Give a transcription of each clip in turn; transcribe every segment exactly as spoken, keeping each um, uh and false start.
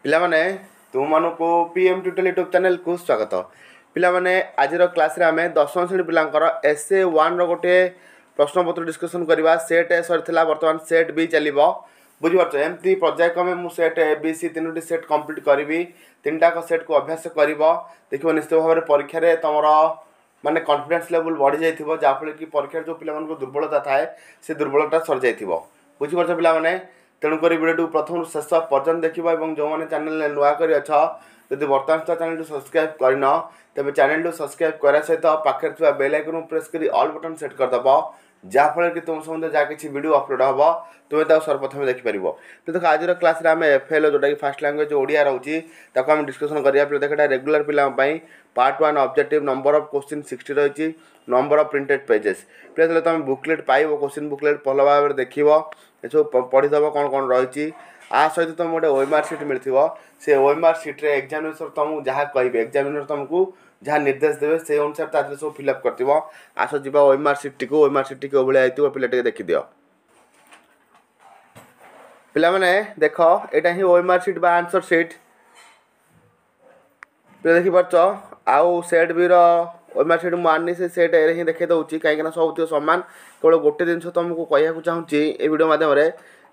ପିଲାମାନେ ତୁମମାନଙ୍କୁ P M tutorial YouTube ଚ୍ୟାନେଲ୍କୁ ସ୍ୱାଗତ ପିଲାମାନେ ଆଜିର କ୍ଲାସ୍ରେ ଆମେ ଦଶମ ଶ୍ରେଣୀ ପିଲାଙ୍କର ଏସ୍ ଏ ୱାନ୍ର ଗୋଟିଏ ପ୍ରଶ୍ନପତ୍ର ଡିସ୍କସନ୍ କରିବା ସେଟ୍ ଏ ସରିଥିଲା ବର୍ତ୍ତମାନ ସେଟ୍ ବି ଚାଲିବ ବୁଝିପାରୁଛ ଏମିତି ପର୍ଯ୍ୟାୟକ୍ରମେ ମୁଁ ସେଟ୍ ଏ ବି ସି ତିନୋଟି ସେଟ୍ କମ୍ପ୍ଲିଟ୍ କରିବି ତିନିଟାକ ସେଟ୍କୁ ଅଭ୍ୟାସ କରିବ ଦେଖିବ ନିଶ୍ଚିତ ଭାବରେ ପରୀକ୍ଷାରେ ତୁମର ମାନେ କନଫିଡେନ୍ସ ଲେଭେଲ୍ ବଢ଼ିଯାଇଥିବ ଯାହାଫଳରେ କି ପରୀକ୍ଷାରେ ଯେଉଁ ପିଲାମାନଙ୍କୁ ଦୁର୍ବଳତା ଥାଏ ସେ ଦୁର୍ବଳତା ସରିଯାଇଥିବ ବୁଝିପାରୁଛ ପିଲାମାନେ ତେଣୁକରି ଭିଡ଼ିଓଟିକୁ ପ୍ରଥମରୁ ଶେଷ ପର୍ଯ୍ୟନ୍ତ ଦେଖିବ ଏବଂ ଯେଉଁମାନେ ଚ୍ୟାନେଲରେ ନୂଆ କରି ଅଛ ଯଦି ବର୍ତ୍ତମାନ ସୁଦ୍ଧା ଚ୍ୟାନେଲଟି ସବସ୍କ୍ରାଇବ୍ କରିନ ତେବେ ଚ୍ୟାନେଲଟି ସବସ୍କ୍ରାଇବ୍ କରିବା ସହିତ ପାଖରେ ଥିବା ବେଲ୍ ଆଇକନ୍କୁ ପ୍ରେସ୍ କରି ଅଲ୍ ବଟନ୍ ସେଟ୍ କରିଦେବ ଯାହାଫଳରେ କି ତୁମ ସମ୍ବନ୍ଧରେ ଯାହା କିଛି ଭିଡ଼ିଓ ଅପଲୋଡ଼ ହେବ ତୁମେ ତାକୁ ସର୍ବପ୍ରଥମେ ଦେଖିପାରିବ ତ ଦେଖ ଆଜିର କ୍ଲାସ୍ରେ ଆମେ ଏଫ୍ ଏଲ୍ ଯେଉଁଟାକି ଫାର୍ଷ୍ଟ ଲାଙ୍ଗୁଏଜ୍ ଓଡ଼ିଆ ରହୁଛି ତାକୁ ଆମେ ଡିସ୍କସନ୍ କରିବା ଦେଖ ଏଇଟା ରେଗୁଲାର ପିଲାଙ୍କ ପାଇଁ part one objective number of question sixty ରହିଛି ନମ୍ବର ଅଫ୍ ପ୍ରିଣ୍ଟେଡ୍ ପେଜେସ୍ ପିଲା ଯେତେବେଳେ ତୁମେ ବୁକଲେଟ୍ ପାଇବ କୋଶ୍ଚିନ୍ ବୁକଲେଟ୍ ଭଲ ଭାବରେ ଦେଖିବ ଏସବୁ ପଢ଼ିଦେବ କ'ଣ କ'ଣ ରହିଛି ଆ ସହିତ ତୁମକୁ ଗୋଟେ ଓଏମ୍ଆର୍ ସିଟ୍ ମିଳିଥିବ ସେ ଓଏମ୍ଆର୍ ସିଟ୍ରେ ଏକ୍ଜାମିନେସର୍ ତୁମକୁ ଯାହା କହିବେ ଏକ୍ଜାମିନର୍ ତୁମକୁ ଯାହା ନିର୍ଦ୍ଦେଶ ଦେବେ ସେଇ ଅନୁସାରେ ତା ଦେହରେ ସବୁ ଫିଲ୍ଅପ୍ କରିଥିବ ଆସ ଯିବା ଓଏମ୍ଆର୍ ସିଟ୍ଟିକୁ ଓଏମ୍ଆର୍ ସିଟ୍ଟି କେଉଁ ଭଳିଆ ହେଇଥିବ ପିଲା ଟିକେ ଦେଖିଦିଅ ପିଲାମାନେ ଦେଖ ଏଇଟା ହିଁ ଓଏମ୍ଆର୍ ସିଟ୍ ବା ଆନ୍ସର୍ ସିଟ୍ ପିଲା ଦେଖିପାରୁଛ ଆଉ ସେଟ୍ ବିର ଓଏମ୍ଆର୍ ସିଟ୍ ମୁଁ ଆଣିନି ସେ ସେଟ୍ ଏରେ ହିଁ ଦେଖାଇ ଦେଉଛି କାହିଁକିନା ସବୁଥିବ ସମାନ କେବଳ ଗୋଟେ ଜିନିଷ ତୁମକୁ କହିବାକୁ ଚାହୁଁଛି ଏ ଭିଡ଼ିଓ ମାଧ୍ୟମରେ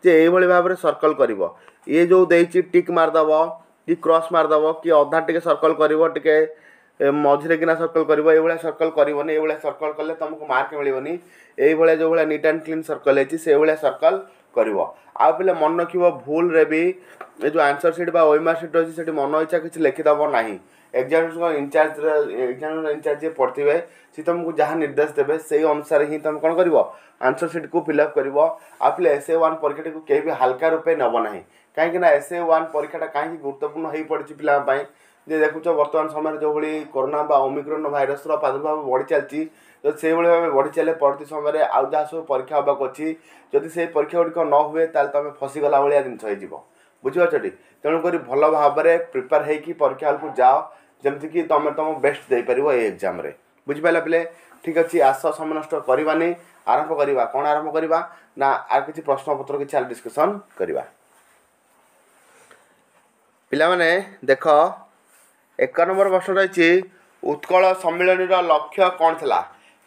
ଯେ ଏଇଭଳି ଭାବରେ ସର୍କଲ୍ କରିବ ଇଏ ଯେଉଁ ଦେଇଛି ଟିକ୍ ମାରିଦେବ କି କ୍ରସ୍ ମାରିଦେବ କି ଅଧା ଟିକେ ସର୍କଲ୍ କରିବ ଟିକେ ମଝିରେ କିନା ସର୍କଲ୍ କରିବ ଏଇଭଳିଆ ସର୍କଲ୍ କରିବନି ଏଇଭଳିଆ ସର୍କଲ୍ କଲେ ତୁମକୁ ମାର୍କ ମିଳିବନି ଏଇଭଳିଆ ଯେଉଁଭଳିଆ ନିଟ୍ ଆଣ୍ଡ କ୍ଲିନ୍ ସର୍କଲ୍ ହେଇଛି ସେଇଭଳିଆ ସର୍କଲ୍ କରିବ ଆଉ ପିଲା ମନେ ରଖିବ ଭୁଲରେ ବି ଏ ଯେଉଁ ଆନ୍ସର୍ ସିଟ୍ ବା ଓଏମ୍ଆର୍ ସିଟ୍ ରହିଛି ସେଠି ମନ ଇଚ୍ଛା କିଛି ଲେଖିଦେବ ନାହିଁ examination in charge examination in charge ଯିଏ ପଢ଼ିଥିବେ ସେ ତୁମକୁ ଯାହା ନିର୍ଦ୍ଦେଶ ଦେବେ ସେଇ ଅନୁସାରେ ହିଁ ତୁମେ କ'ଣ କରିବ ଆନ୍ସର୍ ସିଟ୍କୁ ଫିଲ୍ଅପ୍ କରିବ ଆଉ ପିଲା ଏସ୍ ଏ ୱାନ୍ ପରୀକ୍ଷାଟିକୁ କେହି ବି ହାଲକା ରୂପେ ନେବ ନାହିଁ କାହିଁକିନା ଏସ୍ ଏ ୱାନ୍ ପରୀକ୍ଷାଟା କାହିଁକି ଗୁରୁତ୍ୱପୂର୍ଣ୍ଣ ହୋଇପଡ଼ିଛି ପିଲାଙ୍କ ପାଇଁ ଯେ ଦେଖୁଛ ବର୍ତ୍ତମାନ ସମୟରେ ଯେଉଁଭଳି କରୋନା ବା ଓମିକ୍ରନ୍ ଭାଇରସ୍ର ପ୍ରାଦୁର୍ଭାବ ବଢ଼ି ଚାଲିଛି ଯଦି ସେଇଭଳି ଭାବେ ବଢ଼ି ଚାଲେ ପରବର୍ତ୍ତୀ ସମୟରେ ଆଉ ଯାହା ସବୁ ପରୀକ୍ଷା ହେବାକୁ ଅଛି ଯଦି ସେଇ ପରୀକ୍ଷା ଗୁଡ଼ିକ ନ ହୁଏ ତାହେଲେ ତୁମେ ଫସିଗଲା ଭଳିଆ ଜିନିଷ ହେଇଯିବ ବୁଝିପାରୁଛଟି ତେଣୁକରି ଭଲ ଭାବରେ ପ୍ରିପେୟାର ହେଇକି ପରୀକ୍ଷା ହଲ୍କୁ ଯାଅ ଯେମିତିକି ତୁମେ ତୁମ ବେଷ୍ଟ ଦେଇପାରିବ ଏଇ ଏକ୍ଜାମ୍ରେ ବୁଝିପାରିଲ ପିଲେ ଠିକ୍ ଅଛି ଆସ ସମୟ ନଷ୍ଟ କରିବାନି ଆରମ୍ଭ କରିବା କ'ଣ ଆରମ୍ଭ କରିବା ନା ଆଉ କିଛି ପ୍ରଶ୍ନପତ୍ର କିଛି ଡିସ୍କସନ୍ କରିବା ପିଲାମାନେ ଦେଖ ଏକ ନମ୍ବର ପ୍ରଶ୍ନ ରହିଛି ଉତ୍କଳ ସମ୍ମିଳନୀର ଲକ୍ଷ୍ୟ କ'ଣ ଥିଲା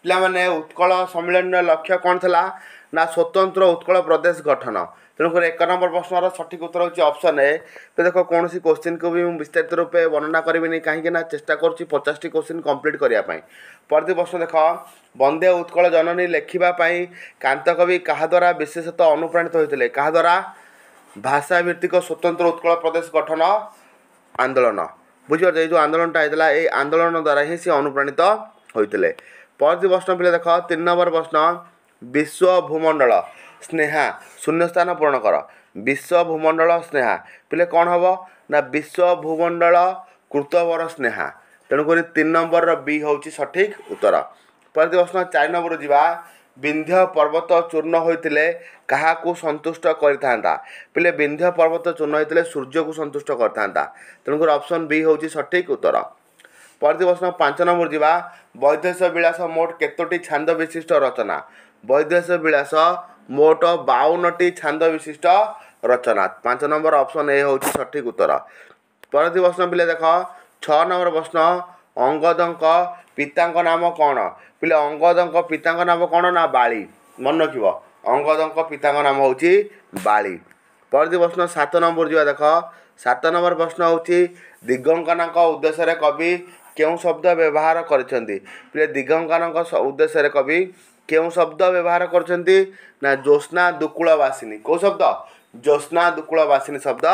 ପିଲାମାନେ ଉତ୍କଳ ସମ୍ମିଳନୀର ଲକ୍ଷ୍ୟ କ'ଣ ଥିଲା ନା ସ୍ୱତନ୍ତ୍ର ଉତ୍କଳ ପ୍ରଦେଶ ଗଠନ ତେଣୁକରି ଏକ ନମ୍ବର ପ୍ରଶ୍ନର ସଠିକ୍ ଉତ୍ତର ହେଉଛି ଅପସନ୍ ଏ ତ ଦେଖ କୌଣସି କୋଶ୍ଚିନ୍କୁ ବି ମୁଁ ବିସ୍ତାରିତ ରୂପେ ବର୍ଣ୍ଣନା କରିବିନି କାହିଁକି ନା ଚେଷ୍ଟା କରୁଛି ପଚାଶଟି କୋଶ୍ଚିନ୍ କମ୍ପ୍ଲିଟ୍ କରିବା ପାଇଁ ପରବର୍ତ୍ତୀ ପ୍ରଶ୍ନ ଦେଖ ବନ୍ଦେ ଉତ୍କଳ ଜନନୀ ଲେଖିବା ପାଇଁ କାନ୍ତକବି କାହା ଦ୍ୱାରା ବିଶେଷତଃ ଅନୁପ୍ରାଣିତ ହୋଇଥିଲେ କାହା ଦ୍ୱାରା ଭାଷାଭିତ୍ତିକ ସ୍ୱତନ୍ତ୍ର ଉତ୍କଳ ପ୍ରଦେଶ ଗଠନ ଆନ୍ଦୋଳନ ବୁଝିପାରୁଛ ଏଇ ଯେଉଁ ଆନ୍ଦୋଳନଟା ହେଇଥିଲା ଏଇ ଆନ୍ଦୋଳନ ଦ୍ୱାରା ହିଁ ସେ ଅନୁପ୍ରାଣିତ ହୋଇଥିଲେ ପରବର୍ତ୍ତୀ ପ୍ରଶ୍ନ ପିଲା ଦେଖ ତିନି ନମ୍ବର ପ୍ରଶ୍ନ ବିଶ୍ୱ ଭୂମଣ୍ଡଳ ସ୍ନେହା ଶୂନ୍ୟସ୍ଥାନ ପୂରଣ କର ବିଶ୍ୱ ଭୂମଣ୍ଡଳ ସ୍ନେହା ପିଲେ କ'ଣ ହେବ ନା ବିଶ୍ୱ ଭୂମଣ୍ଡଳ କୃତବର ସ୍ନେହା ତେଣୁକରି ତିନି ନମ୍ବରର ବି ହେଉଛି ସଠିକ୍ ଉତ୍ତର ପରବର୍ତ୍ତୀ ପ୍ରଶ୍ନ ଚାରି ନମ୍ବର ଯିବା ବିନ୍ଧ୍ୟ ପର୍ବତ ଚୂର୍ଣ୍ଣ ହୋଇଥିଲେ କାହାକୁ ସନ୍ତୁଷ୍ଟ କରିଥାନ୍ତା ପିଲେ ବିନ୍ଧ୍ୟ ପର୍ବତ ଚୂର୍ଣ୍ଣ ହୋଇଥିଲେ ସୂର୍ଯ୍ୟକୁ ସନ୍ତୁଷ୍ଟ କରିଥାନ୍ତା ତେଣୁକରି ଅପସନ୍ ବି ହେଉଛି ସଠିକ୍ ଉତ୍ତର ପରବର୍ତ୍ତୀ ପ୍ରଶ୍ନ ପାଞ୍ଚ ନମ୍ବର ଯିବା ବୈଦେଶ ବିଳାସ ମୋଟ କେତୋଟି ଛାନ୍ଦ ବିଶିଷ୍ଟ ରଚନା ବୈଦେଶ ବିଳାସ ମୋଟ ବାଉନଟି ଛାନ୍ଦ ବିଶିଷ୍ଟ ରଚନା ପାଞ୍ଚ ନମ୍ବର ଅପସନ୍ ଏ ହେଉଛି ସଠିକ୍ ଉତ୍ତର ପରବର୍ତ୍ତୀ ପ୍ରଶ୍ନ ପିଲେ ଦେଖ ଛଅ ନମ୍ବର ପ୍ରଶ୍ନ ଅଙ୍ଗଦଙ୍କ ପିତାଙ୍କ ନାମ କ'ଣ ପିଲେ ଅଙ୍ଗଦଙ୍କ ପିତାଙ୍କ ନାମ କ'ଣ ନା ବାଳି ମନେ ରଖିବ ଅଙ୍ଗଦଙ୍କ ପିତାଙ୍କ ନାମ ହେଉଛି ବାଳି ପରବର୍ତ୍ତୀ ପ୍ରଶ୍ନ ସାତ ନମ୍ବର ଯିବା ଦେଖ ସାତ ନମ୍ବର ପ୍ରଶ୍ନ ହେଉଛି ଦିଗଙ୍କନାଙ୍କ ଉଦ୍ଦେଶ୍ୟରେ କବି କେଉଁ ଶବ୍ଦ ବ୍ୟବହାର କରିଛନ୍ତି ପିଲେ ଦିଗଙ୍କନଙ୍କ ଉଦ୍ଦେଶ୍ୟରେ କବି କେଉଁ ଶବ୍ଦ ବ୍ୟବହାର କରିଛନ୍ତି ନା ଜ୍ୟୋତ୍ସ୍ନା ଦୁକୁଳବାସିନୀ କେଉଁ ଶବ୍ଦ ଜ୍ୟୋତ୍ସ୍ନା ଦୁକୁଳବାସିନୀ ଶବ୍ଦ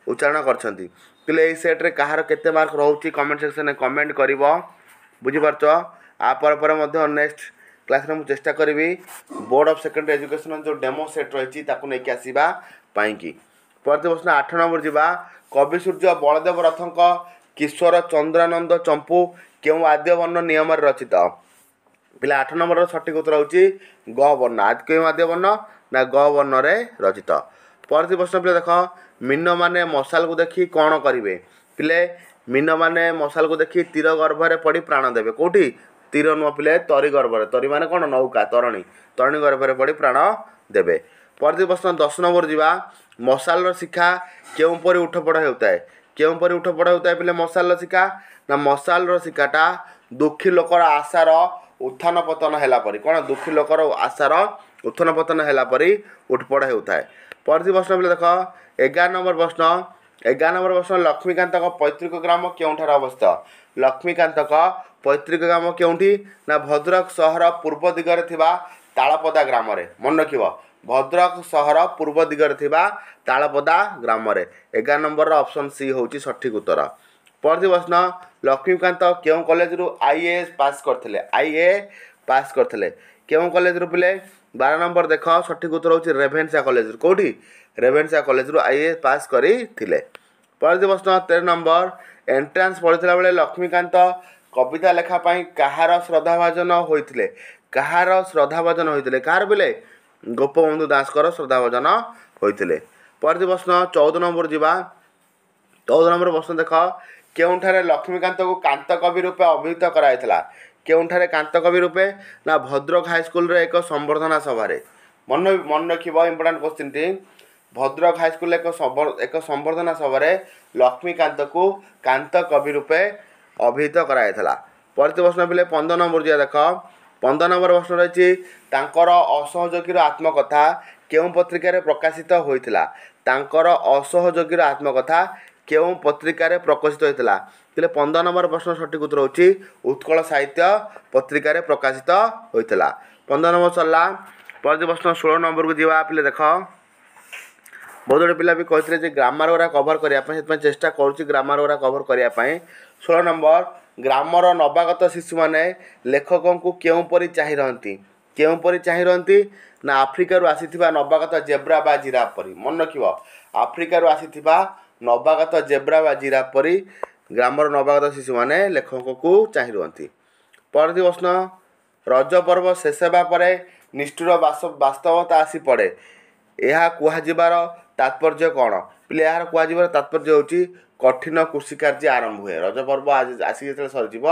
ଉଚ୍ଚାରଣ କରିଛନ୍ତି ପିଲେ ଏଇ ସେଟ୍ରେ କାହାର କେତେ ମାର୍କ ରହୁଛି କମେଣ୍ଟ ସେକ୍ସନରେ କମେଣ୍ଟ କରିବ ବୁଝିପାରୁଛ ଆ ପରେ ପରେ ମଧ୍ୟ ନେକ୍ସଟ କ୍ଲାସ୍ରେ ମୁଁ ଚେଷ୍ଟା କରିବି ବୋର୍ଡ଼ ଅଫ୍ ସେକେଣ୍ଡାରୀ ଏଜୁକେସନ୍ ଯେଉଁ ଡେମୋ ସେଟ୍ ରହିଛି ତାକୁ ନେଇକି ଆସିବା ପାଇଁକି ପରବର୍ତ୍ତୀ ପ୍ରଶ୍ନ ଆଠ ନମ୍ବର ଯିବା କବି ସୂର୍ଯ୍ୟ ବଳଦେବ ରଥଙ୍କ କିଶୋର ଚନ୍ଦ୍ରାନନ୍ଦ ଚମ୍ପୁ କେଉଁ ଆଦ୍ୟ ବର୍ଣ୍ଣ ନିୟମରେ ରଚିତ ପିଲା ଆଠ ନମ୍ବରର ସଠିକ୍ ଉତ୍ତର ହେଉଛି ଗ ବର୍ଣ୍ଣ ଆଜି କେଉଁ ଆଦ୍ୟ ବର୍ଣ୍ଣ ନା ଗ ବର୍ଣ୍ଣରେ ରଚିତ ପରବର୍ତ୍ତୀ ପ୍ରଶ୍ନ ପିଲା ଦେଖ ମୀନମାନେ ମଶାଲକୁ ଦେଖି କ'ଣ କରିବେ ପିଲେ ମୀନମାନେ ମଶାଲକୁ ଦେଖି ତୀର ଗର୍ଭରେ ପଡ଼ି ପ୍ରାଣ ଦେବେ କେଉଁଠି ତୀର ନୁହଁ ପିଲେ ତରି ଗର୍ଭରେ ତରି ମାନେ କ'ଣ ନୌକା ତରଣୀ ତରଣୀ ଗର୍ଭରେ ପଡ଼ି ପ୍ରାଣ ଦେବେ ପରବର୍ତ୍ତୀ ପ୍ରଶ୍ନ ଦଶ ନମ୍ବର ଯିବା। ମଶାଲର ଶିଖା କେଉଁପରି ଉଠପଡ଼ ହେଉଥାଏ? କେଉଁପରି ଉଠପଡ଼ ହେଉଥାଏ ପିଲେ ମଶାଲର ଶିଖା? ନା ମଶାଲର ଶିଖାଟା ଦୁଃଖୀ ଲୋକର ଆଶାର ଉତ୍ଥାନ ପତନ ହେଲା ପରି। କ'ଣ? ଦୁଃଖୀ ଲୋକର ଆଶାର ଉତ୍ଥାନ ପତନ ହେଲା ପରି ଉଠପଡ଼ ହେଉଥାଏ। ପରବର୍ତ୍ତୀ ପ୍ରଶ୍ନ ପିଲେ ଦେଖ, ଏଗାର ନମ୍ବର ପ୍ରଶ୍ନ। ଏଗାର ନମ୍ବର ପ୍ରଶ୍ନ, ଲକ୍ଷ୍ମୀକାନ୍ତଙ୍କ ପୈତୃକ ଗ୍ରାମ କେଉଁଠାରେ ଅବସ୍ଥିତ? ଲକ୍ଷ୍ମୀକାନ୍ତଙ୍କ ପୈତୃକ ଗ୍ରାମ କେଉଁଠି? ନା ଭଦ୍ରକ ସହର ପୂର୍ବ ଦିଗରେ ଥିବା ତାଳପଦା ଗ୍ରାମରେ। ମନେ ରଖିବ, ଭଦ୍ରକ ସହର ପୂର୍ବ ଦିଗରେ ଥିବା ତାଳପଦା ଗ୍ରାମରେ। ଏଗାର ନମ୍ବରର ଅପସନ୍ ସି ହେଉଛି ସଠିକ୍ ଉତ୍ତର। ପରବର୍ତ୍ତୀ ପ୍ରଶ୍ନ, ଲକ୍ଷ୍ମୀକାନ୍ତ କେଉଁ କଲେଜରୁ I A S pass କରିଥିଲେ? I A pass କରିଥିଲେ କେଉଁ କଲେଜରୁ ପିଲେ? ବାର ନମ୍ବର ଦେଖ, ସଠିକ୍ ଉତ୍ତର ହେଉଛି ରେଭେନ୍ସା କଲେଜରୁ। କେଉଁଠି? ରେଭେନ୍ସା କଲେଜରୁ I A pass କରିଥିଲେ। ପରବର୍ତ୍ତୀ ପ୍ରଶ୍ନ ତେର ନମ୍ବର, ଏଣ୍ଟ୍ରାନ୍ସ ପଢ଼ିଥିଲା ବେଳେ ଲକ୍ଷ୍ମୀକାନ୍ତ କବିତା ଲେଖା ପାଇଁ କାହାର ଶ୍ରଦ୍ଧାଭାଜନ ହୋଇଥିଲେ? କାହାର ଶ୍ରଦ୍ଧାଭାଜନ ହୋଇଥିଲେ? କାହାର ପିଲେ? ଗୋପବନ୍ଧୁ ଦାସଙ୍କର ଶ୍ରଦ୍ଧାଭାଜନ ହୋଇଥିଲେ। ପରବର୍ତ୍ତୀ ପ୍ରଶ୍ନ ଚଉଦ ନମ୍ବର ଯିବା। ଚଉଦ ନମ୍ବର ପ୍ରଶ୍ନ ଦେଖ, କେଉଁଠାରେ ଲକ୍ଷ୍ମୀକାନ୍ତଙ୍କୁ କାନ୍ତ କବି ରୂପେ ଅଭିହିତ କରାଯାଇଥିଲା? କେଉଁଠାରେ କାନ୍ତ କବି ରୂପେ? ନା ଭଦ୍ରକ ହାଇସ୍କୁଲରେ ଏକ ସମ୍ବର୍ଦ୍ଧନା ସଭାରେ। ମନେ ମନେ ରଖିବ, ଇମ୍ପୋର୍ଟାଣ୍ଟ କ୍ୱେଶ୍ଚିନ୍ଟି। ଭଦ୍ରକ ହାଇସ୍କୁଲରେ ଏକ ଏକ ସମ୍ବର୍ଦ୍ଧନା ସଭାରେ ଲକ୍ଷ୍ମୀକାନ୍ତକୁ କାନ୍ତ କବି ରୂପେ ଅଭିହିତ କରାଯାଇଥିଲା। ପରବର୍ତ୍ତୀ ପ୍ରଶ୍ନ ପିଲେ ପନ୍ଦର ନମ୍ବର ଯିବା। ଦେଖ, ପନ୍ଦର ନମ୍ବର ପ୍ରଶ୍ନ ରହିଛି, ତାଙ୍କର ଅସହଯୋଗୀର ଆତ୍ମକଥା କେଉଁ ପତ୍ରିକାରେ ପ୍ରକାଶିତ ହୋଇଥିଲା? ତାଙ୍କର ଅସହଯୋଗୀର ଆତ୍ମକଥା କେଉଁ ପତ୍ରିକାରେ ପ୍ରକାଶିତ ହୋଇଥିଲା? ପିଲେ ପନ୍ଦର ନମ୍ବର ପ୍ରଶ୍ନ ସଠିକ୍ ଉତ୍ତର ହେଉଛି ଉତ୍କଳ ସାହିତ୍ୟ ପତ୍ରିକାରେ ପ୍ରକାଶିତ ହୋଇଥିଲା। ପନ୍ଦର ନମ୍ବର ସରିଲା। ପରବର୍ତ୍ତୀ ପ୍ରଶ୍ନ ଷୋହଳ ନମ୍ବରକୁ ଯିବା। ପିଲେ ଦେଖ, ବହୁତ ଗୁଡ଼ିଏ ପିଲା ବି କହିଥିଲେ ଯେ ଗ୍ରାମାର ଗୁଡ଼ା କଭର୍ କରିବା ପାଇଁ, ସେଥିପାଇଁ ଚେଷ୍ଟା କରୁଛି ଗ୍ରାମାର ଗୁଡ଼ା କଭର୍ କରିବା ପାଇଁ। ଷୋହଳ ନମ୍ବର, ଗ୍ରାମର ନବାଗତ ଶିଶୁମାନେ ଲେଖକଙ୍କୁ କେଉଁପରି ଚାହିଁ ରହନ୍ତି? କେଉଁପରି ଚାହିଁ ରହନ୍ତି? ନା ଆଫ୍ରିକାରୁ ଆସିଥିବା ନବାଗତ ଜେବ୍ରା ବା ଜିରାଫ ପରି। ମନେ ରଖିବ, ଆଫ୍ରିକାରୁ ଆସିଥିବା ନବାଗତ ଜେବ୍ରା ବା ଜିରାଫ ପରି ଗ୍ରାମର ନବାଗତ ଶିଶୁମାନେ ଲେଖକଙ୍କୁ ଚାହିଁ ରୁହନ୍ତି। ପରବର୍ତ୍ତୀ ପ୍ରଶ୍ନ, ରଜ ପର୍ବ ଶେଷ ହେବା ପରେ ନିଷ୍ଠୁର ବାସ୍ତବତା ଆସି ପଡ଼େ, ଏହା କୁହାଯିବାର ତାତ୍ପର୍ଯ୍ୟ କ'ଣ? ପିଲେ ଏହାର କୁହାଯିବାର ତାତ୍ପର୍ଯ୍ୟ ହେଉଛି କଠିନ କୃଷି କାର୍ଯ୍ୟ ଆରମ୍ଭ ହୁଏ। ରଜ ପର୍ବ ଆସିକି ଯେତେବେଳେ ସରିଯିବ,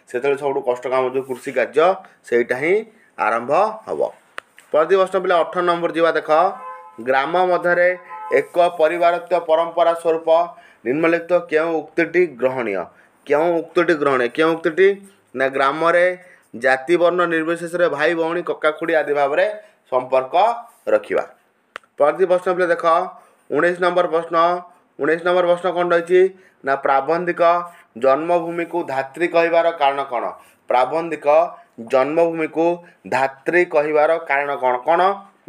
ସେତେବେଳେ ସବୁଠୁ କଷ୍ଟ କାମ ଯେଉଁ କୃଷି କାର୍ଯ୍ୟ, ସେଇଟା ହିଁ ଆରମ୍ଭ ହେବ। ପରବର୍ତ୍ତୀ ପ୍ରଶ୍ନ ପିଲା ଅଠର ନମ୍ବର ଯିବା। ଦେଖ, ଗ୍ରାମ ମଧ୍ୟରେ ଏକ ପରିବାରତ୍ୱ ପରମ୍ପରା ସ୍ୱରୂପ ନିମ୍ନଲିଖିତ କେଉଁ ଉକ୍ତିଟି ଗ୍ରହଣୀୟ? କେଉଁ ଉକ୍ତିଟି ଗ୍ରହଣୀୟ? କେଉଁ ଉକ୍ତିଟି? ନା ଗ୍ରାମରେ ଜାତି ବର୍ଣ୍ଣ ନିର୍ବିଶେଷରେ ଭାଇ ଭଉଣୀ କକା ଖୁଡ଼ି ଆଦି ଭାବରେ ସମ୍ପର୍କ ରଖିବା। ପରବର୍ତ୍ତୀ ପ୍ରଶ୍ନ ପିଲା ଦେଖ, ଉଣେଇଶ ନମ୍ବର ପ୍ରଶ୍ନ। ଉଣେଇଶ ନମ୍ବର ପ୍ରଶ୍ନ କ'ଣ ରହିଛି? ନା ପ୍ରାବନ୍ଧିକ ଜନ୍ମଭୂମିକୁ ଧାତ୍ରୀ କହିବାର କାରଣ କ'ଣ? ପ୍ରାବନ୍ଧିକ ଜନ୍ମଭୂମିକୁ ଧାତ୍ରୀ କହିବାର କାରଣ କ'ଣ? କ'ଣ?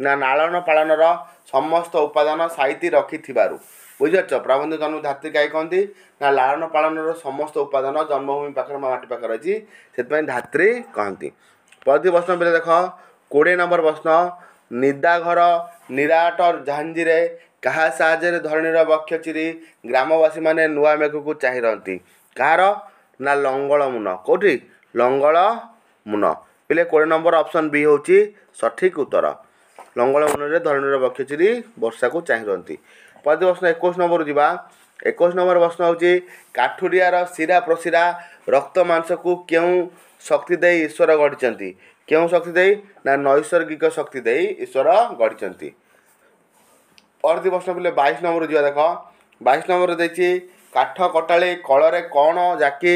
ନା ଲାଳନ ପାଳନର ସମସ୍ତ ଉପାଦାନ ସାଇତି ରଖିଥିବାରୁ। ବୁଝିପାରୁଛ? ପ୍ରାବନ୍ଧିକ ଜନ୍ମ ଧାତ୍ରୀ କାହିଁ କହନ୍ତି? ନା ଲାଳନ ପାଳନର ସମସ୍ତ ଉପାଦାନ ଜନ୍ମଭୂମି ପାଖରେ, ମାଟି ପାଖରେ ରହିଛି, ସେଥିପାଇଁ ଧାତ୍ରୀ କହନ୍ତି। ପରବର୍ତ୍ତୀ ପ୍ରଶ୍ନ ପିଲା ଦେଖ, କୋଡ଼ିଏ ନମ୍ବର ପ୍ରଶ୍ନ, ନିଦାଘର ନିରାଟ ଝାଞ୍ଜିରେ କାହା ସାହାଯ୍ୟରେ ଧରଣୀର ବକ୍ଷ ଚିରି ଗ୍ରାମବାସୀମାନେ ନୂଆ ମେଘକୁ ଚାହିଁ ରହନ୍ତି? କାହାର? ନା ଲଙ୍ଗଳ ମୁନ। କେଉଁଠି? ଲଙ୍ଗଳ ମୁନ। ପିଲେ କୋଡ଼ିଏ ନମ୍ବର ଅପସନ୍ ବି ହେଉଛି ସଠିକ୍ ଉତ୍ତର। ଲଙ୍ଗଳ ମୁନରେ ଧରଣୀର ବକ୍ଷ ଚିରି ବର୍ଷାକୁ ଚାହିଁ ରହନ୍ତି। ପରବର୍ତ୍ତୀ ପ୍ରଶ୍ନ ଏକୋଇଶ ନମ୍ବରକୁ ଯିବା। ଏକୋଇଶ ନମ୍ବର ପ୍ରଶ୍ନ ହେଉଛି, କାଠୁରିଆର ଶିରା ପ୍ରଶିରା ରକ୍ତ ମାଂସକୁ କେଉଁ ଶକ୍ତି ଦେଇ ଈଶ୍ୱର ଗଢ଼ିଛନ୍ତି? କେଉଁ ଶକ୍ତି ଦେଇ? ନା ନୈସର୍ଗିକ ଶକ୍ତି ଦେଇ ଈଶ୍ୱର ଗଢ଼ିଛନ୍ତି। ପରବର୍ତ୍ତୀ ପ୍ରଶ୍ନ ପିଲେ ବାଇଶ ନମ୍ବରକୁ ଯିବା। ଦେଖ, ବାଇଶ ନମ୍ବର ଦେଇଛି, କାଠ କଟାଳି କଳରେ କ'ଣ ଜାକି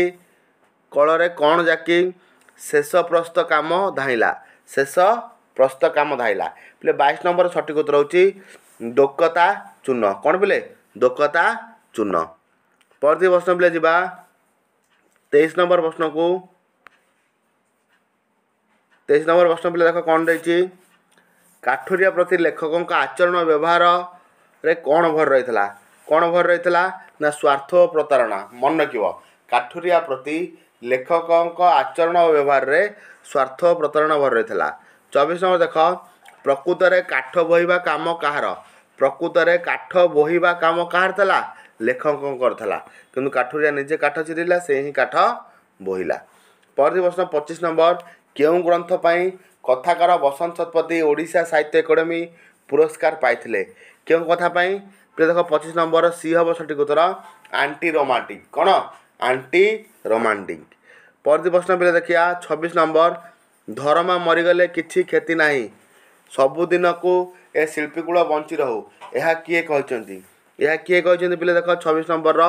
କଳରେ କ'ଣ ଜାକି ଶେଷ ପ୍ରସ୍ତ କାମ ଧାଇଁଲା? ଶେଷ ପ୍ରସ୍ତ କାମ ଧାଇଁଲା। ପିଲେ ବାଇଶ ନମ୍ବର ସଠିକ୍ ଉତ୍ତର ହେଉଛି ଦୋକତା ଚୂନ। କ'ଣ ପିଲେ? ଦୋକତା ଚୂନ। ପରବର୍ତ୍ତୀ ପ୍ରଶ୍ନ ପିଲେ ଯିବା ତେଇଶ ନମ୍ବର ପ୍ରଶ୍ନକୁ। ତେଇଶ ନମ୍ବର ପ୍ରଶ୍ନ ପିଲେ ଦେଖ କ'ଣ ଦେଇଛି, କାଠୁରିଆ ପ୍ରତି ଲେଖକଙ୍କ ଆଚରଣ ବ୍ୟବହାରରେ କ'ଣ ଭରି ରହିଥିଲା? କ'ଣ ଭରି ରହିଥିଲା? ନା ସ୍ୱାର୍ଥ ଓ ପ୍ରତାରଣା। ମନେ ରଖିବ, କାଠୁରିଆ ପ୍ରତି ଲେଖକଙ୍କ ଆଚରଣ ଓ ବ୍ୟବହାରରେ ସ୍ୱାର୍ଥ ଓ ପ୍ରତାରଣା ଭରି ରହିଥିଲା। ଚବିଶ ନମ୍ବର ଦେଖ, ପ୍ରକୃତରେ କାଠ ବୋହିବା କାମ କାହାର? ପ୍ରକୃତରେ କାଠ ବୋହିବା କାମ କାହାର ଥିଲା? ଲେଖକଙ୍କର ଥିଲା, କିନ୍ତୁ କାଠୁରିଆ ନିଜେ କାଠ ଚିରିଲା, ସେ ହିଁ କାଠ ବୋହିଲା। ପରବର୍ତ୍ତୀ ପ୍ରଶ୍ନ ପଚିଶ ନମ୍ବର, କେଉଁ ଗ୍ରନ୍ଥ ପାଇଁ କଥାକାର ବସନ୍ତ ଶତପଥୀ ଓଡ଼ିଶା ସାହିତ୍ୟ ଏକାଡେମୀ ପୁରସ୍କାର ପାଇଥିଲେ? କେଉଁ କଥା ପାଇଁ? ଦେଖ ପଚିଶ ନମ୍ବର ସି ହେବ ସଠିକ୍ ଉତ୍ତର, ଆଣ୍ଟି ରୋମାଣ୍ଟିକ୍। କ'ଣ? Anti romantic. ପରବର୍ତ୍ତୀ ପ୍ରଶ୍ନ ପିଲା ଦେଖିବା ଛବିଶ ନମ୍ବର, ଧରମା ମରିଗଲେ କିଛି କ୍ଷତି ନାହିଁ ସବୁଦିନକୁ ଏ ଶିଳ୍ପୀକୂଳ ବଞ୍ଚି ରହୁ, ଏହା କିଏ କହିଛନ୍ତି? ଏହା କିଏ କହିଛନ୍ତି ପିଲେ ଦେଖ ଛବିଶ ନମ୍ବରର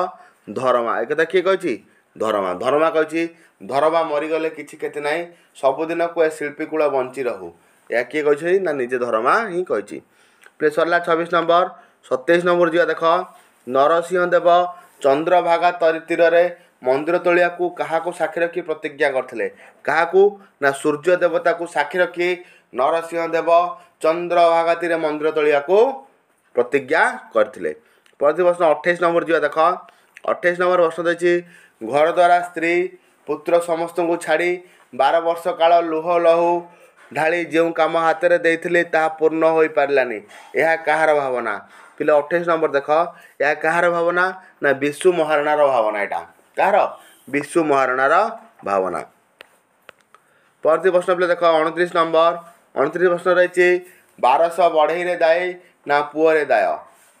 ଧରମା। ଏକଥା କିଏ କହିଛି? ଧରମା। ଧରମା କହିଛି ଧରମା ମରିଗଲେ କିଛି କ୍ଷତି ନାହିଁ, ସବୁଦିନକୁ ଏ ଶିଳ୍ପୀକୂଳ ବଞ୍ଚି ରହୁ। ଏହା କିଏ କହିଛନ୍ତି ନା ନିଜେ ଧରମା ହିଁ କହିଛି। ପିଲେ ସରିଲା ଛବିଶ ନମ୍ବର। ସତେଇଶ ନମ୍ବର ଯିବା ଦେଖ, ନରସିଂହ ଦେବ ଚନ୍ଦ୍ରଭାଗା ତରି ତୀରରେ ମନ୍ଦିର ତୋଳିବାକୁ କାହାକୁ ସାକ୍ଷୀ ରଖି ପ୍ରତିଜ୍ଞା କରିଥିଲେ? କାହାକୁ ନା ସୂର୍ଯ୍ୟ ଦେବତାକୁ ସାକ୍ଷୀ ରଖି ନରସିଂହ ଦେବ ଚନ୍ଦ୍ରଭାଗା ତୀରେ ମନ୍ଦିର ତୋଳିବାକୁ ପ୍ରତିଜ୍ଞା କରିଥିଲେ। ପରବର୍ତ୍ତୀ ପ୍ରଶ୍ନ ଅଠେଇଶ ନମ୍ବର ଯିବା ଦେଖ, ଅଠେଇଶ ନମ୍ବର ପ୍ରଶ୍ନ ଦେଇଛି ଘର ଦ୍ୱାରା ସ୍ତ୍ରୀ ପୁତ୍ର ସମସ୍ତଙ୍କୁ ଛାଡ଼ି ବାର ବର୍ଷ କାଳ ଲୁହ ଲହୁ ଢାଳି ଯେଉଁ କାମ ହାତରେ ଦେଇଥିଲେ ତାହା ପୂର୍ଣ୍ଣ ହୋଇପାରିଲାନି, ଏହା କାହାର ଭାବନା? ପିଲା ଅଠେଇଶ ନମ୍ବର ଦେଖ, ଏହା କାହାର ଭାବନା ନା ବିଶୁ ମହାରଣାର ଭାବନା। ଏଇଟା କାହାର? ବିଶୁ ମହାରଣାର ଭାବନା। ପରବର୍ତ୍ତୀ ପ୍ରଶ୍ନ ପିଲା ଦେଖ ଅଣତିରିଶ ନମ୍ବର। ଅଣତିରିଶ ପ୍ରଶ୍ନ ରହିଛି ବାରଶହ ବଢ଼େଇରେ ଦାୟୀ ନା ପୁଅରେ ଦାୟ?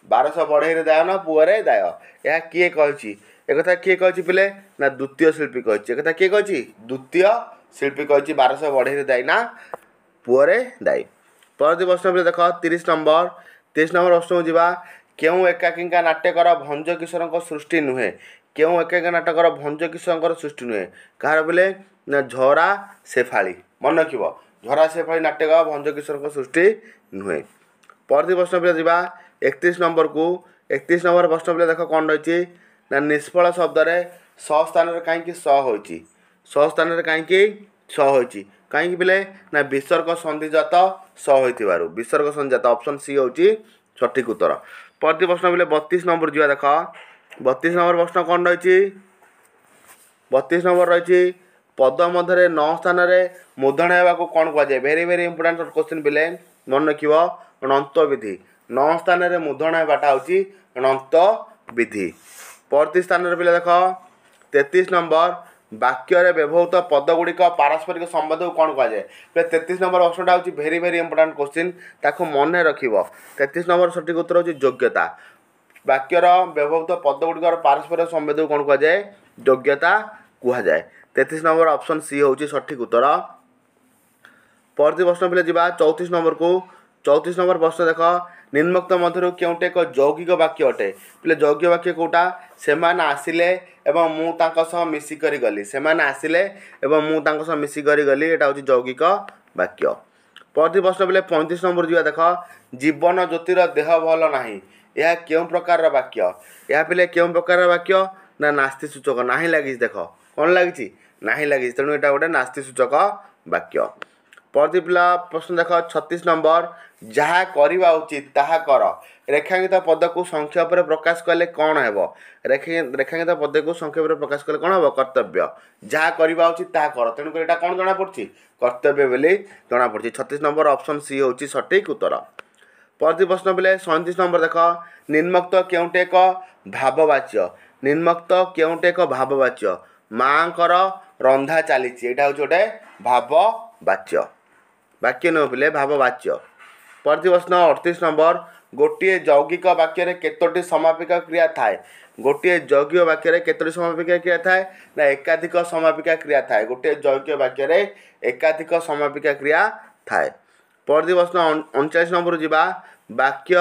ବାରଶହ ବଢ଼େଇରେ ଦାୟ ନା ପୁଅରେ ଦାୟ, ଏହା କିଏ କହିଛି? ଏକଥା କିଏ କହିଛି ପିଲେ ନା ଦ୍ୱିତୀୟ ଶିଳ୍ପୀ କହିଛି। ଏକଥା କିଏ କହିଛି? ଦ୍ୱିତୀୟ ଶିଳ୍ପୀ କହିଛି ବାରଶହ ବଢ଼େଇରେ ଦାୟୀ ନା ପୁଅରେ ଦାୟୀ। ପରବର୍ତ୍ତୀ ପ୍ରଶ୍ନ ପିଲେ ଦେଖ ତିରିଶ ନମ୍ବର। ତିରିଶ ନମ୍ବର ପ୍ରଶ୍ନକୁ ଯିବା, କେଉଁ ଏକାକିଙ୍କା ନାଟ୍ୟକାର ଭଞ୍ଜ କିଶୋରଙ୍କ ସୃଷ୍ଟି ନୁହେଁ? କେଉଁ ଏକାକିଙ୍କା ନାଟକର ଭଞ୍ଜ କିଶୋରଙ୍କର ସୃଷ୍ଟି ନୁହେଁ? କାହାର ପିଲେ ନା ଝରା ଶେଫାଳି। ମନେ ରଖିବ ଝରା ଶେଫାଳି ନାଟ୍ୟକାର ଭଞ୍ଜ କିଶୋରଙ୍କ ସୃଷ୍ଟି ନୁହେଁ। ପରବର୍ତ୍ତୀ ପ୍ରଶ୍ନ ପିଲା ଯିବା ଏକତିରିଶ ନମ୍ବରକୁ। ଏକତିରିଶ ନମ୍ବର ପ୍ରଶ୍ନ ପିଲା ଦେଖ କ'ଣ ରହିଛି ନା ନିଷ୍ଫଳ ଶବ୍ଦରେ ସ ସ୍ଥାନରେ କାହିଁକି ସ ହୋଇଛି? ସ ସ୍ଥାନରେ କାହିଁକି ସ ହୋଇଛି? କାହିଁକି ପିଲେ ନା ବିସର୍ଗ ସନ୍ଧିଜାତ ସ ହୋଇଥିବାରୁ। ବିସର୍ଗ ସନ୍ଧିଜାତ ଅପସନ୍ ସି ହେଉଛି ସଠିକ୍ ଉତ୍ତର। ପରବର୍ତ୍ତୀ ପ୍ରଶ୍ନ ପିଲେ ବତିଶ ନମ୍ବର ଯିବା ଦେଖ, ବତିଶ ନମ୍ବର ପ୍ରଶ୍ନ କ'ଣ ରହିଛି? ବତିଶ ନମ୍ବର ରହିଛି ପଦ ମଧ୍ୟରେ ନ ସ୍ଥାନରେ ମୂର୍ଧନ୍ୟ ହେବାକୁ କ'ଣ କୁହାଯାଏ? ଭେରି ଭେରି ଇମ୍ପୋର୍ଟାଣ୍ଟ କ୍ୱେଶ୍ଚିନ୍ ପିଲେ ମନେ ରଖିବ ଣନ୍ତବିଧି। ନ ସ୍ଥାନରେ ମୂର୍ଧନ୍ୟ ହେବାଟା ହେଉଛି ଣନ୍ତବିଧି। ପରବର୍ତ୍ତୀ ସ୍ଥାନରେ ପିଲେ ଦେଖ ତେତିଶ ନମ୍ବର, ବାକ୍ୟରେ ବ୍ୟବହୃତ ପଦଗୁଡ଼ିକ ପାରସ୍ପରିକ ସମ୍ବନ୍ଧକୁ କ'ଣ କୁହାଯାଏ? ପିଲେ ତେତିଶ ନମ୍ବର ପ୍ରଶ୍ନଟା ହେଉଛି ଭେରି ଭେରି ଇମ୍ପୋର୍ଟାଣ୍ଟ କ୍ୱେଶ୍ଚିନ୍, ତାକୁ ମନେ ରଖିବ। ତେତିଶ ନମ୍ବର ସଠିକ୍ ଉତ୍ତର ହେଉଛି ଯୋଗ୍ୟତା। ବାକ୍ୟର ବ୍ୟବହୃତ ପଦଗୁଡ଼ିକର ପାରସ୍ପରିକ ସମ୍ବନ୍ଧକୁ କ'ଣ କୁହାଯାଏ? ଯୋଗ୍ୟତା କୁହାଯାଏ। ତେତିଶ ନମ୍ବର ଅପସନ୍ ସି ହେଉଛି ସଠିକ୍ ଉତ୍ତର। ପରବର୍ତ୍ତୀ ପ୍ରଶ୍ନ ପିଲେ ଯିବା ଚଉତିରିଶ ନମ୍ବରକୁ। ଚଉତିରିଶ ନମ୍ବର ପ୍ରଶ୍ନ ଦେଖ, ନିମ୍ନୋକ୍ତ ମଧ୍ୟରୁ କେଉଁଟି ଏକ ଯୌଗିକ ବାକ୍ୟ ଅଟେ? ପିଲେ ଯୌଗିକ ବାକ୍ୟ କେଉଁଟା? ସେମାନେ ଆସିଲେ ଏବଂ ମୁଁ ତାଙ୍କ ସହ ମିଶିକରି ଗଲି। ସେମାନେ ଆସିଲେ ଏବଂ ମୁଁ ତାଙ୍କ ସହ ମିଶିକରି ଗଲି, ଏଇଟା ହେଉଛି ଯୌଗିକ ବାକ୍ୟ। ପରବର୍ତ୍ତୀ ପ୍ରଶ୍ନ ପିଲେ ପଇଁତିରିଶ ନମ୍ବର ଯିବା ଦେଖ, ଜୀବନ ଜ୍ୟୋତିର ଦେହ ଭଲ ନାହିଁ, ଏହା କେଉଁ ପ୍ରକାରର ବାକ୍ୟ? ଏହା ପିଲେ କେଉଁ ପ୍ରକାରର ବାକ୍ୟ ନା ନାସ୍ତି ସୂଚକ। ନାହିଁ ଲାଗିଛି ଦେଖ, କ'ଣ ଲାଗିଛି? ନାହିଁ ଲାଗିଛି, ତେଣୁ ଏଇଟା ଗୋଟେ ନାସ୍ତି ସୂଚକ ବାକ୍ୟ। ପରବର୍ତ୍ତୀ ପିଲା ପ୍ରଶ୍ନ ଦେଖ ଛତିଶ ନମ୍ବର, ଯାହା କରିବା ଉଚିତ ତାହା କର, ରେଖାଙ୍କିତ ପଦକୁ ସଂକ୍ଷେପରେ ପ୍ରକାଶ କଲେ କ'ଣ ହେବ? ରେଖାଙ୍କିତ ପଦକୁ ସଂକ୍ଷେପରେ ପ୍ରକାଶ କଲେ କ'ଣ ହେବ? କର୍ତ୍ତବ୍ୟ। ଯାହା କରିବା ଉଚିତ ତାହା କର, ତେଣୁକରି ଏଇଟା କ'ଣ ଜଣାପଡ଼ୁଛି? କର୍ତ୍ତବ୍ୟ ବୋଲି ଜଣାପଡ଼ୁଛି। ଛତିଶ ନମ୍ବର ଅପସନ୍ ସି ହେଉଛି ସଠିକ୍ ଉତ୍ତର। ପରବର୍ତ୍ତୀ ପ୍ରଶ୍ନ ପିଲେ ସଇଁତିରିଶ ନମ୍ବର ଦେଖ, ନିମ୍ନୋକ୍ତ କେଉଁଟି ଏକ ଭାବବାଚ୍ୟ? ନିମ୍ନୋକ୍ତ କେଉଁଟି ଏକ ଭାବବାଚ୍ୟ? ମାଆଙ୍କର ରନ୍ଧା ଚାଲିଛି, ଏଇଟା ହେଉଛି ଗୋଟେ ଭାବବାଚ୍ୟ। ବାକ୍ୟ ନୁହେଁ ପିଲେ, ଭାବବାଚ୍ୟ। ପରବର୍ତ୍ତୀ ପ୍ରଶ୍ନ ଅଠତିରିଶ ନମ୍ବର, ଗୋଟିଏ ଯୌଗିକ ବାକ୍ୟରେ କେତୋଟି ସମାପିକା କ୍ରିୟା ଥାଏ? ଗୋଟିଏ ଯୌଗିକ ବାକ୍ୟରେ କେତୋଟି ସମାପିକା କ୍ରିୟା ଥାଏ? ନା ଏକାଧିକ ସମାପିକା କ୍ରିୟା ଥାଏ। ଗୋଟିଏ ଯୌଗିକ ବାକ୍ୟରେ ଏକାଧିକ ସମାପିକା କ୍ରିୟା ଥାଏ। ପରବର୍ତ୍ତୀ ପ୍ରଶ୍ନ ଅଣଚାଳିଶ ନମ୍ବର ଯିବା, ବାକ୍ୟ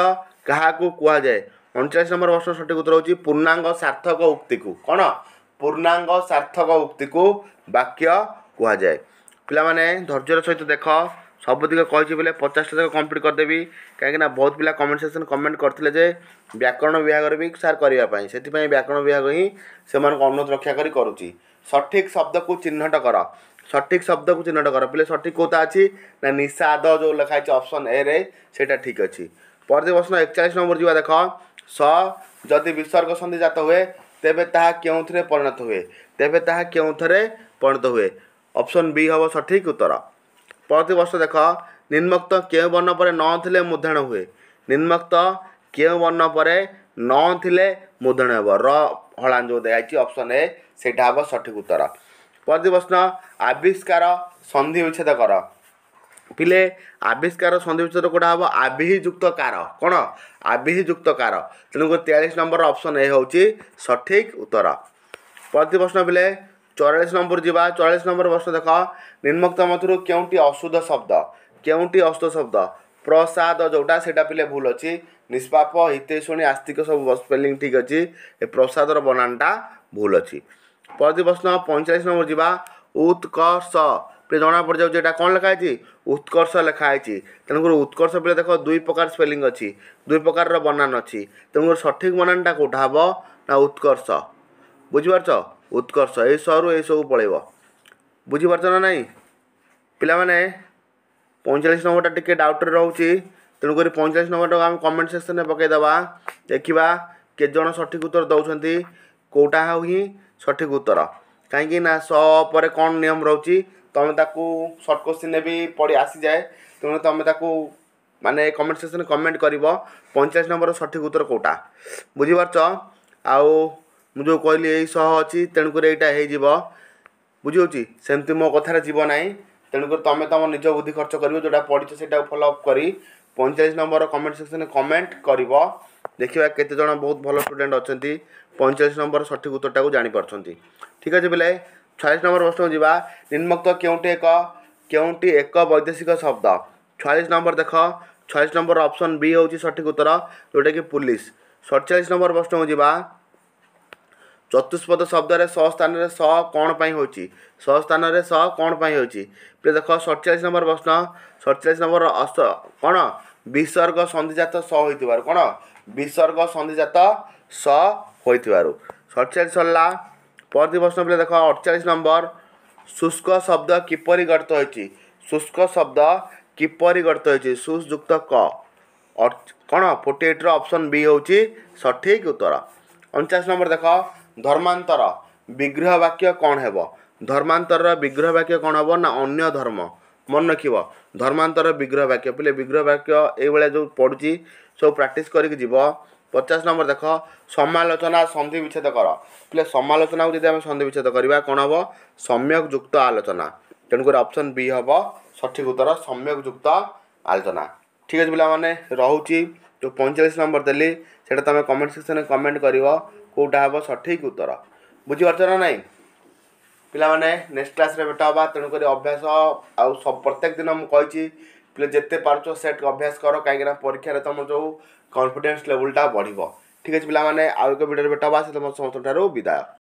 କାହାକୁ କୁହାଯାଏ? ଅଣଚାଳିଶ ନମ୍ବର ପ୍ରଶ୍ନ ସଠିକ୍ ଉତ୍ତର ହେଉଛି ପୂର୍ଣ୍ଣାଙ୍ଗ ସାର୍ଥକ ଉକ୍ତିକୁ। କ'ଣ? ପୂର୍ଣ୍ଣାଙ୍ଗ ସାର୍ଥକ ଉକ୍ତିକୁ ବାକ୍ୟ କୁହାଯାଏ। ପିଲାମାନେ ଧୈର୍ଯ୍ୟର ସହିତ ଦେଖ, ସବୁତିକ କହିଛି ବୋଲେ ପଚାଶଟା ଯାକ କମ୍ପ୍ଲିଟ୍ କରିଦେବି, କାହିଁକିନା ବହୁତ ପିଲା କମେଣ୍ଟ ସେକ୍ସନ୍ କମେଣ୍ଟ କରିଥିଲେ ଯେ ବ୍ୟାକରଣ ବିଭାଗରେ ବି ସାର୍ କରିବା ପାଇଁ, ସେଥିପାଇଁ ବ୍ୟାକରଣ ବିଭାଗ ହିଁ ସେମାନଙ୍କୁ ଅନୁରୋଧ ରକ୍ଷା କରି କରୁଛି। ସଠିକ୍ ଶବ୍ଦକୁ ଚିହ୍ନଟ କର, ସଠିକ୍ ଶବ୍ଦକୁ ଚିହ୍ନଟ କର। ପିଲେ ସଠିକ୍ କେଉଁଟା ଅଛି ନା ନିଷାଦ ଯେଉଁ ଲେଖା ହେଇଛି ଅପସନ୍ ଏରେ, ସେଇଟା ଠିକ୍ ଅଛି। ପରବର୍ତ୍ତୀ ପ୍ରଶ୍ନ ଏକଚାଳିଶ ନମ୍ବର ଯିବା ଦେଖ, ସ ଯଦି ବିସର୍ଗ ସନ୍ଧି ଜାତ ହୁଏ ତେବେ ତାହା କେଉଁଥିରେ ପରିଣତ ହୁଏ? ତେବେ ତାହା କେଉଁଥିରେ ପରିଣତ ହୁଏ? ଅପସନ୍ ବି ହେବ ସଠିକ୍ ଉତ୍ତର। ପରବର୍ତ୍ତୀ ପ୍ରଶ୍ନ ଦେଖ, ନିମ୍ନୋକ୍ତ କେଉଁ ବର୍ଣ୍ଣ ପରେ ନ ଥିଲେ ମୂର୍ଧନ୍ୟ ହୁଏ? ନିମ୍ନୋକ୍ତ କେଉଁ ବର୍ଣ୍ଣ ପରେ ନ ଥିଲେ ମୂର୍ଧନ୍ୟ ହେବ? ର ହଳାନ ଯେଉଁ ଦିଆହେଇଛି ଅପସନ୍ ଏ, ସେଇଟା ହେବ ସଠିକ୍ ଉତ୍ତର। ପରବର୍ତ୍ତୀ ପ୍ରଶ୍ନ ଆବିଷ୍କାର ସନ୍ଧି ବିଚ୍ଛେଦ କର। ପିଲେ ଆବିଷ୍କାର ସନ୍ଧି ବିଚ୍ଛେଦ କେଉଁଟା ହେବ? ଆବିହିଯୁକ୍ତ କାର। କ'ଣ? ଆବିହିଯୁକ୍ତ କାର। ତେଣୁକରି ତେୟାଳିଶ ନମ୍ବର ଅପସନ୍ ଏ ହେଉଛି ସଠିକ୍ ଉତ୍ତର। ପରବର୍ତ୍ତୀ ପ୍ରଶ୍ନ ପିଲେ ଚଉରାଳିଶ ନମ୍ବର ଯିବା। ଚଉରାଳିଶ ନମ୍ବର ପ୍ରଶ୍ନ ଦେଖ, ନିମ୍ନୋକ୍ତ ମଧ୍ୟରୁ କେଉଁଟି ଅଶୁଦ୍ଧ ଶବ୍ଦ? କେଉଁଟି ଅଶୁଦ୍ଧ ଶବ୍ଦ? ପ୍ରସାଦ ଯେଉଁଟା ସେଇଟା ପିଲେ ଭୁଲ ଅଛି। ନିଷ୍ପାପ, ହିତୈଷିଣୀ, ଆସ୍ତିକ ସବୁ ସ୍ପେଲିଂ ଠିକ୍ ଅଛି, ଏ ପ୍ରସାଦର ବନାନଟା ଭୁଲ ଅଛି। ପରବର୍ତ୍ତୀ ପ୍ରଶ୍ନ ପଇଁଚାଳିଶ ନମ୍ବର ଯିବା। ଉତ୍କର୍ଷ ପିଲେ ଜଣା ପଡ଼ିଯାଉଛି ଏଇଟା କ'ଣ ଲେଖା ହେଇଛି? ଉତ୍କର୍ଷ ଲେଖା ହେଇଛି। ତେଣୁକରି ଉତ୍କର୍ଷ ପିଲେ ଦେଖ ଦୁଇ ପ୍ରକାର ସ୍ପେଲିଂ ଅଛି, ଦୁଇ ପ୍ରକାରର ବନାନ ଅଛି। ତେଣୁକରି ସଠିକ୍ ବନାନଟା କେଉଁଟା ହେବ ନା ଉତ୍କର୍ଷ। ବୁଝିପାରୁଛ? ଉତ୍କର୍ଷ ଏଇ ସରୁ ଏଇ ସବୁ ପଳେଇବ। ବୁଝିପାରୁଛ ନା ନାହିଁ ପିଲାମାନେ? ପଇଁଚାଳିଶ ନମ୍ବରଟା ଟିକେ ଡାଉଟ୍ରେ ରହୁଛି, ତେଣୁକରି ପଇଁଚାଳିଶ ନମ୍ବରଟାକୁ ଆମେ କମେଣ୍ଟ ସେକ୍ସନରେ ପକାଇଦେବା, ଦେଖିବା କେତେ ଜଣ ସଠିକ୍ ଉତ୍ତର ଦେଉଛନ୍ତି, କେଉଁଟା ହିଁ ସଠିକ୍ ଉତ୍ତର। କାହିଁକି ନା ସ ପରେ କ'ଣ ନିୟମ ରହୁଛି, ତୁମେ ତାକୁ ସର୍ଟ କୋଶ୍ଚିନ୍ରେ ବି ପଡ଼ି ଆସିଯାଏ। ତେଣୁ ତୁମେ ତାକୁ ମାନେ କମେଣ୍ଟ ସେକ୍ସନରେ କମେଣ୍ଟ କରିବ ପଇଁଚାଳିଶ ନମ୍ବର ସଠିକ୍ ଉତ୍ତର କେଉଁଟା। ବୁଝିପାରୁଛ? ଆଉ ମୁଁ ଯେଉଁ କହିଲି ଏଇ ସହ ଅଛି, ତେଣୁକରି ଏଇଟା ହେଇଯିବ। ବୁଝିହେଉଛି? ସେମିତି ମୋ କଥାରେ ଯିବ ନାହିଁ, ତେଣୁକରି ତୁମେ ତୁମ ନିଜ ବୁଦ୍ଧି ଖର୍ଚ୍ଚ କରିବ, ଯେଉଁଟା ପଢ଼ିଛ ସେଇଟାକୁ ଫଲୋ ଅପ୍ କରି ପଇଁଚାଳିଶ ନମ୍ବର କମେଣ୍ଟ ସେକ୍ସନରେ କମେଣ୍ଟ କରିବ। ଦେଖିବା କେତେ ଜଣ ବହୁତ ଭଲ ଷ୍ଟୁଡେଣ୍ଟ ଅଛନ୍ତି, ପଇଁଚାଳିଶ ନମ୍ବର ସଠିକ୍ ଉତ୍ତରଟାକୁ ଜାଣିପାରୁଛନ୍ତି। ଠିକ୍ ଅଛି ପିଲେ, ଛୟାଳିଶ ନମ୍ବର ପ୍ରଶ୍ନକୁ ଯିବା। ନିମ୍ନୋକ୍ତ କେଉଁଟି ଏକ କେଉଁଟି ଏକ ବୈଦେଶିକ ଶବ୍ଦ? ଛୟାଳିଶ ନମ୍ବର ଦେଖ, ଛୟାଳିଶ ନମ୍ବର ଅପସନ୍ ବି ହେଉଛି ସଠିକ୍ ଉତ୍ତର, ଯେଉଁଟାକି ପୁଲିସ। ସତଚାଳିଶ ନମ୍ବର ପ୍ରଶ୍ନକୁ ଯିବା। ଚତୁଷ୍ପଦ ଶବ୍ଦରେ ସ ସ୍ଥାନରେ ସ କ'ଣ ପାଇଁ ହେଉଛି? ସ ସ୍ଥାନରେ ସ କ'ଣ ପାଇଁ ହେଉଛି? ପିଲେ ଦେଖ ସତଚାଳିଶ ନମ୍ବର ପ୍ରଶ୍ନ, ସତଚାଳିଶ ନମ୍ବର ଅସ କ'ଣ? ବିସର୍ଗ ସନ୍ଧିଜାତ ସ ହୋଇଥିବାରୁ। କ'ଣ? ବିସର୍ଗ ସନ୍ଧିଜାତ ସ ହୋଇଥିବାରୁ। ସତଚାଳିଶ ସରିଲା। ପରବର୍ତ୍ତୀ ପ୍ରଶ୍ନ ପିଲେ ଦେଖ ଅଠଚାଳିଶ ନମ୍ବର, ଶୁଷ୍କ ଶବ୍ଦ କିପରି ଗଠିତ ହୋଇଛି? ଶୁଷ୍କ ଶବ୍ଦ କିପରି ଗଠିତ ହୋଇଛି? ସୁସ୍ ଯୁକ୍ତ କ। କ'ଣ? ଫୋର୍ଟି ଏଇଟ୍ର ଅପସନ୍ ବି ହେଉଛି ସଠିକ୍ ଉତ୍ତର। ଅଣଚାଶ ନମ୍ବର ଦେଖ, ଧର୍ମାନ୍ତର ବିଗ୍ରହ ବାକ୍ୟ କ'ଣ ହେବ? ଧର୍ମାନ୍ତରର ବିଗ୍ରହ ବାକ୍ୟ କ'ଣ ହେବ ନା ଅନ୍ୟ ଧର୍ମ। ମନେ ରଖିବ ଧର୍ମାନ୍ତର ବିଗ୍ରହ ବାକ୍ୟ। ପିଲେ ବିଗ୍ରହ ବାକ୍ୟ ଏଇଭଳିଆ ଯେଉଁ ପଡ଼ୁଛି ସବୁ ପ୍ରାକ୍ଟିସ୍ କରିକି ଯିବ। ପଚାଶ ନମ୍ବର ଦେଖ, ସମାଲୋଚନା ସନ୍ଧି ବିଚ୍ଛେଦ କର। ପିଲେ ସମାଲୋଚନାକୁ ଯଦି ଆମେ ସନ୍ଧି ବିଚ୍ଛେଦ କରିବା କ'ଣ ହେବ? ସମ୍ୟକ ଯୁକ୍ତ ଆଲୋଚନା। ତେଣୁକରି ଅପସନ୍ ବି ହେବ ସଠିକ୍ ଉତ୍ତର, ସମ୍ୟକ ଯୁକ୍ତ ଆଲୋଚନା। ଠିକ୍ ଅଛି ପିଲାମାନେ, ରହୁଛି। ଯେଉଁ ପଇଁଚାଳିଶ ନମ୍ବର ଦେଲି ସେଇଟା ତୁମେ କମେଣ୍ଟ ସେକ୍ସନରେ କମେଣ୍ଟ କରିବ କେଉଁଟା ହେବ ସଠିକ୍ ଉତ୍ତର। ବୁଝିପାରୁଛ ନା ନାହିଁ ପିଲାମାନେ? ନେକ୍ସଟ କ୍ଲାସ୍ରେ ଭେଟ ହେବା। ତେଣୁକରି ଅଭ୍ୟାସ ଆଉ ପ୍ରତ୍ୟେକ ଦିନ ମୁଁ କହିଛି ପିଲେ ଯେତେ ପାରୁଛ ସେଟ୍ ଅଭ୍ୟାସ କର, କାହିଁକିନା ପରୀକ୍ଷାରେ ତୁମର ଯେଉଁ କନଫିଡେନ୍ସ ଲେଭେଲଟା ବଢ଼ିବ। ଠିକ୍ ଅଛି ପିଲାମାନେ, ଆଉ ଏକ ଭିଡ଼ିଓରେ ଭେଟ ହେବା। ସେ ତୁମ ସମସ୍ତଙ୍କ ଠାରୁ ବିଦାୟ।